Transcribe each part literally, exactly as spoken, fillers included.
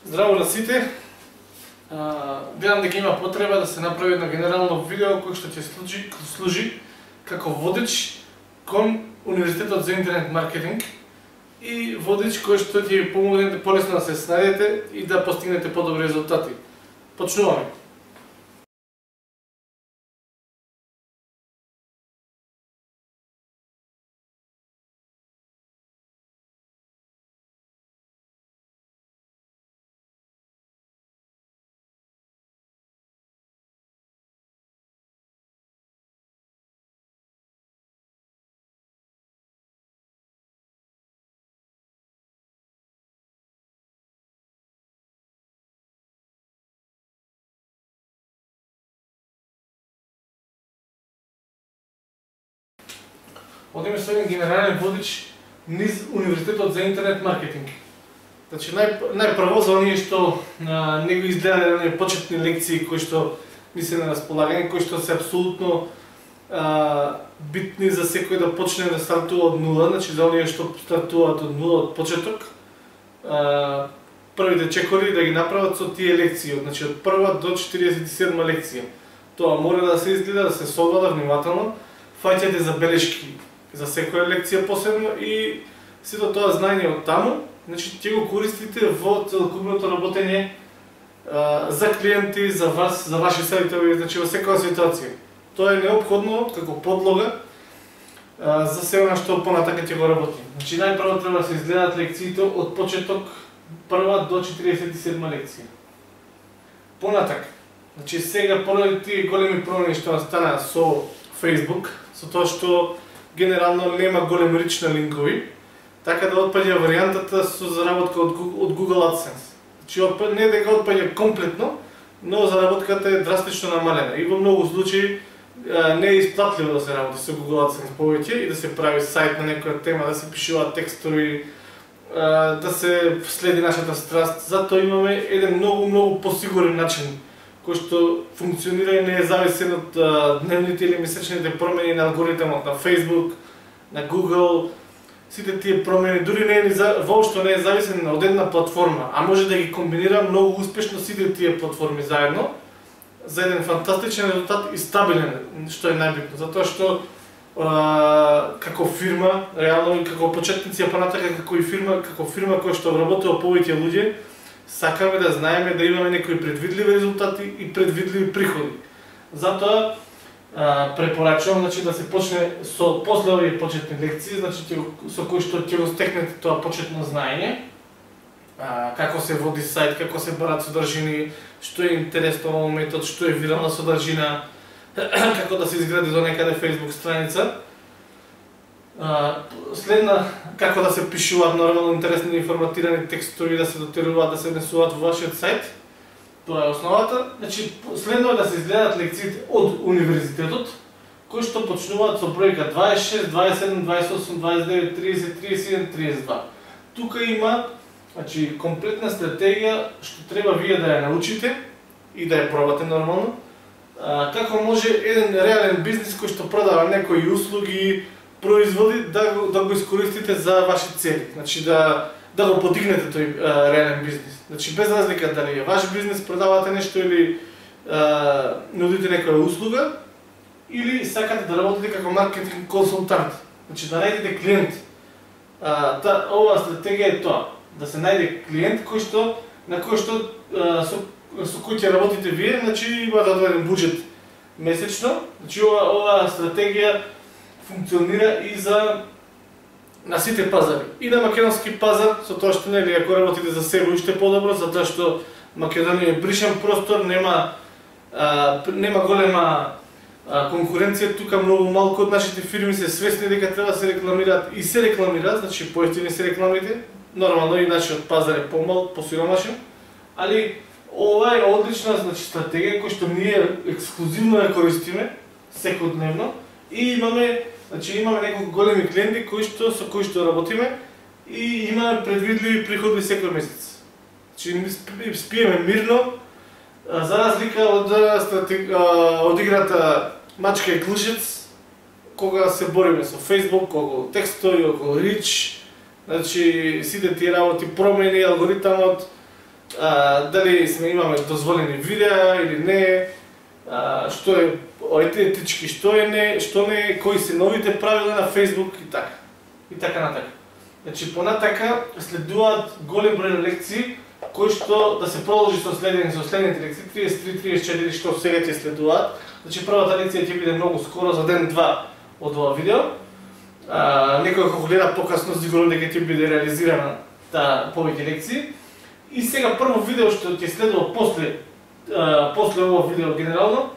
Здраво на сите. Гледам дека има потреба да се направи едно генерално видео кој што ќе служи, служи како водич кон Универзитетот за интернет маркетинг и водич кој што ќе ви помогне полесно да се снајдете и да постигнете подобри резултати. Почнуваме. Одиме со еден генерален водич низ Универзитетот за интернет маркетинг. Значи, нај, најпрво за оние што а, не го изгледаат оние почетни лекции кои што ми се на располагање, кои што се апсолутно а, битни за секој да почне да стартува од нула, значи за оние што стартуваат од нула од почеток, а, првите чекори да ги направат со тие лекции, значи од прва до четиридесет и седма лекција. Тоа мора да се изгледа, да се согледа внимателно, фаќате забелешки за секоја лекција посебно и сето тоа знаење од таму, значи ќе го користите во целокупното работење а, за клиенти, за вас, за ваши сајтови, значи во секоја ситуација. Тоа е неопходно како подлога а, за се она што понатака ќе го работи. Значи најпрво треба да се изгледаат лекциите од почеток прва до четиридесет и седма лекција. Понатака, значи сега поради тие големи промени што настанаа со Facebook, со тоа што генерално нема голем рич на линкови, така да отпаѓа варијантата со заработка од, од Google AdSense. Значи не дека отпаѓа комплетно, но заработката е драстично намалена и во многу случаи не е исплатливо да се работи со Google AdSense повеќе и да се прави сајт на некоја тема, да се пишуваат текстови, да се следи нашата страст. Затоа имаме еден многу многу посигурен начин кој што функционира и не е зависен од а, дневните или месечните промени на алгоритмот на Facebook, на Google. Сите тие промени дури не е воопшто не е зависен од една платформа, а може да ги комбинира многу успешно сите тие платформи заедно за еден фантастичен резултат и стабилен, што е најбитно, затоа што а, како фирма, реално и како почетници, а понатака како и фирма, како фирма која што вработува повеќе луѓе, сакаме да знаеме да имаме некои предвидливи резултати и предвидливи приходи. Затоа а, препорачувам, значи, да се почне со после овие почетни лекции, значи со кои што ќе го стекнете тоа почетно знаење, а, како се води сајт, како се барат содржини, што е интересно во моментот, што е вирална содржина, како да се изгради до некаде Facebook страница. Следна, како да се пишуваат нормално интересни информатирани текстови, да се дотеруваат, да се внесуваат во вашиот сајт. Тоа е основата. Значи, следно е да се изгледаат лекциите од универзитетот, кои што почнуваат со бројка дваесет и шест, дваесет и седум, дваесет и осум, дваесет и девет, тридесет, тридесет и еден, тридесет и два. Тука има, значи, комплетна стратегија што треба вие да ја научите и да ја пробате нормално. А, како може еден реален бизнис кој што продава некои услуги, производи, да го, да го искористите за ваши цели, значи да, да го подигнете тој а, реален бизнис. Значи без разлика дали е ваш бизнес, продавате нешто или а, нудите некоја услуга, или сакате да работите како маркетинг консултант, значи да најдете клиент. А, та, оваа стратегија е тоа, да се најде клиент кој што, на кој што а, со, со кој ќе работите вие, значи имате одреден буџет месечно, значи ова, оваа стратегија функционира и за на сите пазари. И на македонски пазар, со тоа што нели ако работите за себе уште подобро, затоа што Македонија е бришен простор, нема а, нема голема а, конкуренција, тука многу малку од нашите фирми се свесни дека треба да се рекламираат и се рекламираат, значи поевтини се рекламите, нормално и нашиот пазар е помал, посиромашен, али ова е одлична, значи, стратегија која што ние ексклузивно ја користиме секојдневно и имаме, значи имаме неколку големи клиенти кои што со кои што работиме и имаме предвидливи приходи секој месец. Значи спиеме мирно, за разлика од стратег... од играта мачка и клишец, кога се бориме со Facebook, околу текстови, околу рич, значи сите тие работи, промени, алгоритмот, а, дали сме имаме дозволени видеа или не, а, што е етички, што е не, што не, кои се новите правила на Facebook и така. И така натака. Значи понатака следуваат голем број лекции кои што да се продолжи со следење со следните лекции триесет и три триесет и четири што сега ќе следуваат. Значи првата лекција ќе биде многу скоро за ден-два од ова видео. А, некој кога гледа покасно сигурно дека ќе биде реализирана таа повеќе лекции. И сега прво видео што ќе следува после а, после ова видео генерално,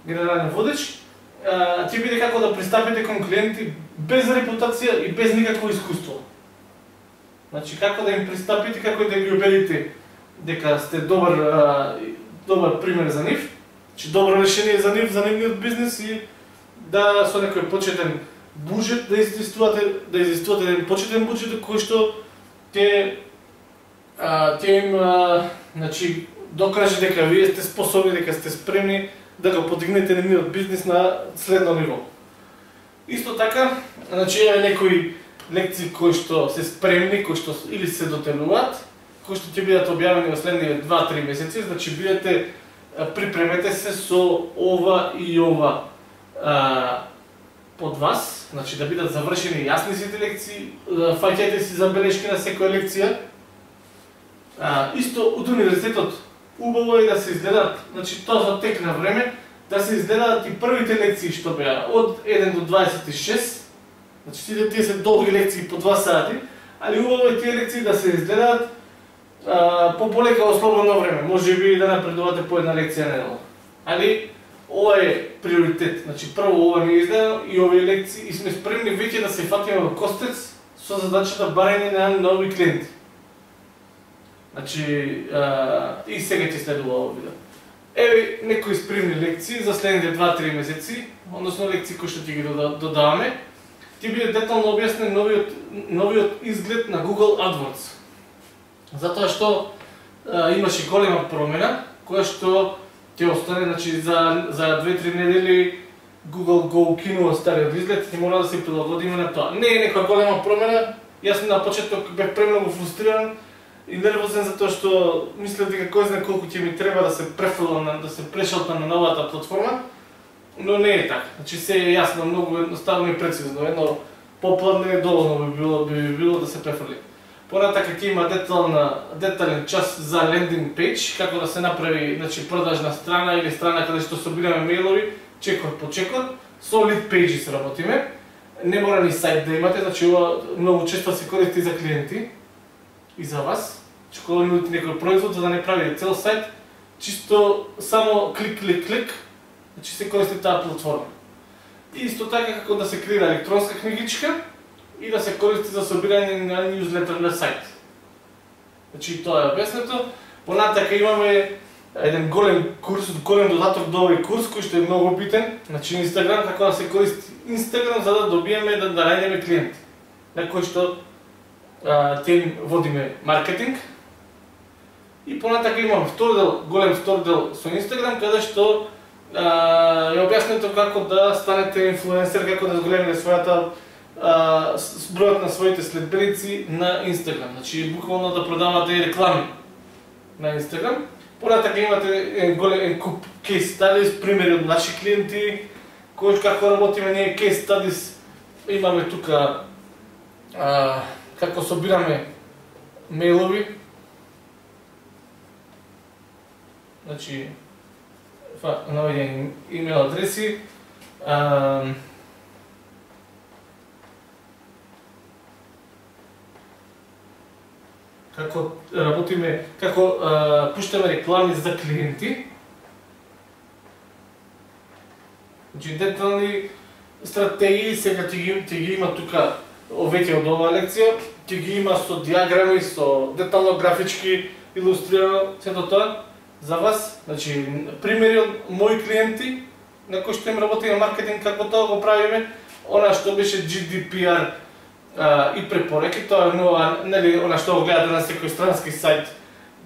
генерален водеч, а, ќе биде како да пристапите кон клиенти без репутација и без никакво искуство. Значи како да им пристапите, како да ги убедите дека сте добар а, добар пример за нив, че добро решение за нив, за нивниот бизнес и да со некој почетен буџет да изискувате да изискувате еден почетен буџет кој што ќе а, ќе им а, значи докаже дека вие сте способни, дека сте спремни да го подигнете нивниот бизнес на следно ниво. Исто така, значи е некои лекции кои што се спремни, кои што или се дотелуваат, кои што ќе бидат објавени во следните два-три месеци, значи бидете припремете се со ова и ова а, под вас, значи да бидат завршени јасни сите лекции, фаќајте си забелешки на секоја лекција. А, исто од универзитетот убаво е да се изгледаат, значи тоа за тек на време, да се изгледаат и првите лекции што беа од еден до дваесет и шест. Значи сите тие се долги лекции по два сати, али убаво е тие лекции да се изгледаат по полека во слободно време, може би да напредувате по една лекција неделно. Али ова е приоритет. Значи прво ова не изгледа и овие лекции и сме спремни веќе да се фатиме во костец со задачата барање на нови клиенти. Значи а, и сега ќе следува ово видео. Еве некои спремни лекции за следните два-три месеци, односно лекции кои што ќе ги додаваме. Ќе биде детално објаснен новиот новиот изглед на Google AdWords. Затоа што а, имаше голема промена, која што ќе остане, значи за за две-три недели Google го укинува стариот изглед и мора да се прилагодиме на тоа. Не е некоја голема промена, јас на почеток бев премногу фрустриран и нервозен затоа што мислев дека кој знае колку ќе ми треба да се префрлам, да се прешалтам на новата платформа, но не е така. Значи се е јасно, многу едноставно и прецизно, едно попладне доволно би било би било да се префрли. Понатака ќе има детална, детален час за лендинг пејдж, како да се направи, значи, продажна страна или страна каде што собираме мејлови, чекор по чекор, со лид пејџи се работиме. Не мора ни сајт да имате, значи ова многу често се користи за клиенти и за вас. Че кога нудите некој производ, за да не правите цел сајт, чисто само клик, клик, клик, значи се користи таа платформа. И исто така како да се креира електронска книгичка и да се користи за собирање на ньюзлетер на сајт. Значи тоа е објаснето. Понатака имаме еден голем курс, голем додаток до овој курс кој што е многу битен. Значи Инстаграм, како да се користи Инстаграм за да добиеме да, да најдеме клиенти. На кој што а, те им водиме маркетинг. И понатака имам втор дел, голем втор дел со Инстаграм, каде што а, е објаснето како да станете инфлуенсер, како да зголемите својата а, бројот на своите следбеници на Инстаграм. Значи буквално да продавате реклами на Инстаграм. Понатака имате голем куп кейс стадис, примери од наши клиенти, кој како работиме ние кейс стадис. Имаме тука а, како собираме мејлови. Значи наведени имейл адреси, а, како работиме, како а, пуштаме реклами за клиенти. Значи детални стратегии сега ќе ги, ќе ги има тука веќе од оваа лекција, ќе ги има со диаграми, со детално графички илустрирано сето тоа за вас. Значи примери од мои клиенти на кои што им работи на маркетинг, како тоа го правиме, она што беше Джи Ди Пи Ар а, и препораки, тоа е нова, нели, она што го гледате на секој странски сајт,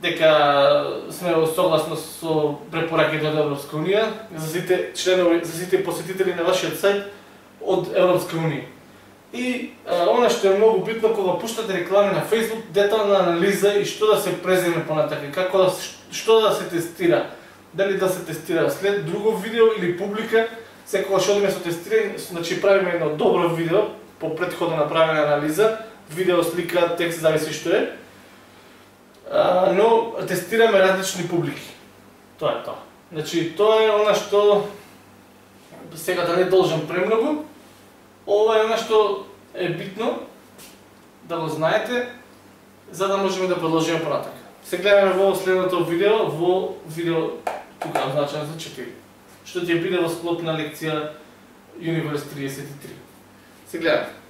дека сме согласно со препораките од Европска унија за сите членови, за сите посетители на вашиот сајт од Европска унија. И а, она што е многу битно кога пуштате реклами на Facebook, детална анализа и што да се преземе понатака, како да се, што да се тестира. Дали да се тестира след друго видео или публика, секогаш одиме со тестирање, значи правиме едно добро видео по претходно направена анализа, видео, слика, текст, зависи што е. А, но тестираме различни публики. Тоа е тоа. Значи тоа е она што сега да не должам премногу. Ова е она што е битно да го знаете, за да можеме да продолжиме понатака. Се гледаме во следното видео, во видео тука означено за четири, што ќе биде во склоп на лекција Universe триесет и три. Се гледаме.